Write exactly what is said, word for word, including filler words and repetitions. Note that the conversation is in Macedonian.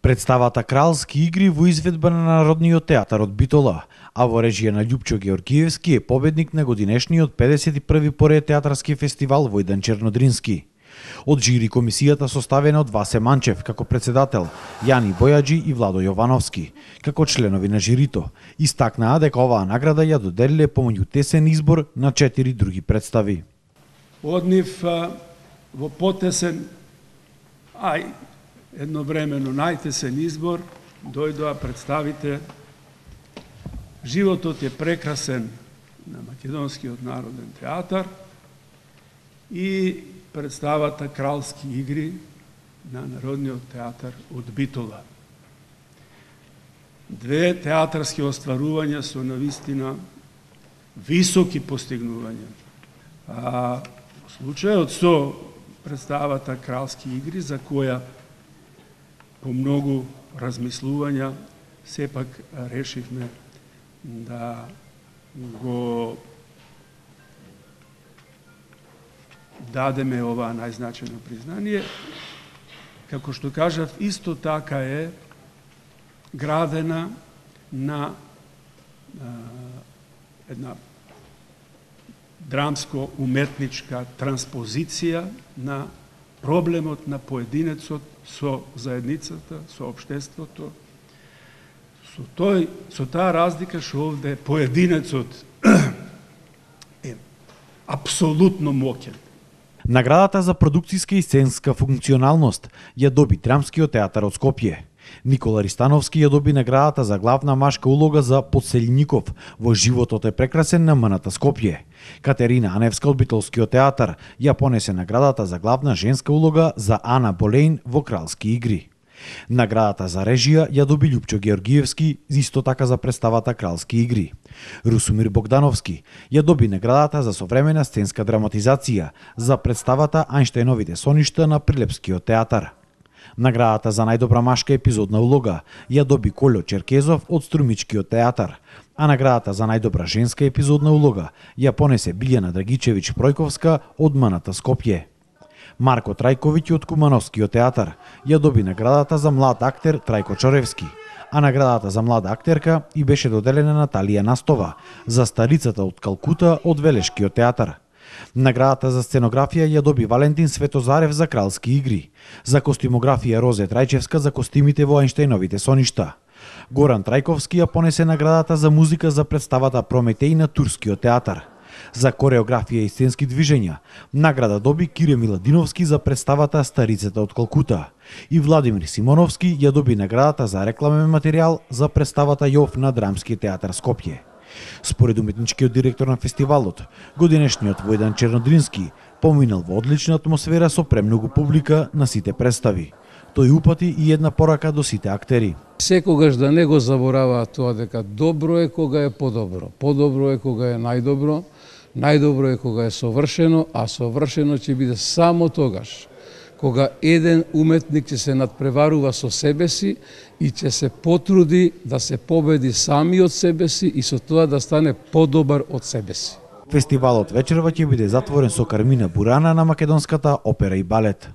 Представата Кралски игри во изведба на Народниот театар од Битола, а во режија на Љупчо Георгиевски е победник на годинешниот педесет и први поред театарски фестивал Војдан Чернодрински. Од жири комисијата составена од Васе Манчев како председател, Јани Бојаджи и Владо Јовановски како членови на жирито, истакнаа дека оваа награда ја доделиле помеѓу тесен избор на четири други представи. Од нив во потесен, ај едновремено најтесен избор дојдоа представите Животот е прекрасен на Македонскиот народен театар и представата Кралски игри на Народниот театар од Битола. Две театарски остварувања со навистина високи постигнувања. А во случајот со представата Кралски игри, за која по многу размислувања сепак решивме да го дадеме ова најзначено признание. Како што кажав, исто така е градена на а, една драмско-уметничка транспозиција на проблемот на поединецот со заедницата, со општеството, со тој, со таа разлика што овде поединецот е апсолутно моќен. Наградата за продукциска и сценска функционалност ја доби Драмскиот театар од Скопје. Никола Ристановски ја доби наградата за главна машка улога за Подселников во Животот е прекрасен на МНТ Скопје. Катерина Аневска од Битолскиот театар ја понесе наградата за главна женска улога за Ана Болейн во Кралски игри. Наградата за режија ја доби Љупчо Георгиевски, исто така за представата Кралски игри. Русумир Богдановски ја доби наградата за современа сценска драматизација за представата Ајнштајновите соништа на Прилепскиот театар. Наградата за најдобра машка епизодна улога ја доби Колјо Черкезов од Струмичкиот театар, а наградата за најдобра женска епизодна улога ја понесе Билјана Драгичевиќ Пројковска од МНТ Скопје. Марко Трајковиќ од Кумановскиот театар ја доби наградата за млад актер Трајко Чоревски, а наградата за млада актерка и беше доделена на Талија Настова за Старицата од Калкута од Велешкиот театар. Наградата за сценографија ја доби Валентин Светозарев за Кралски игри, за костимографија Розе Трајчевска за костимите во Ајнштајновите соништа. Горан Трајковски ја понесе наградата за музика за представата Прометеј на Турскиот театар. За кореографија и сценски движења награда доби Кире Миладиновски за представата Старицата од Калкута и Владимир Симоновски ја доби наградата за рекламен материјал за представата Јов на Драмски театар Скопје. Според уметничкиот директор на фестивалот, годинешниот Војдан Чернодрински поминал во одлична атмосфера со премногу публика на сите представи. Тој упати и една порака до сите актери. Секогаш да не го забораваат тоа дека добро е кога е подобро, подобро е кога е најдобро, најдобро е кога е совршено, а совршено ќе биде само тогаш кога еден уметник ќе се надпреварува со себе си и ќе се потруди да се победи сами од себе си и со тоа да стане подобар од себе си. Фестивалот вечерва ќе биде затворен со Кармина Бурана на македонската опера и балет.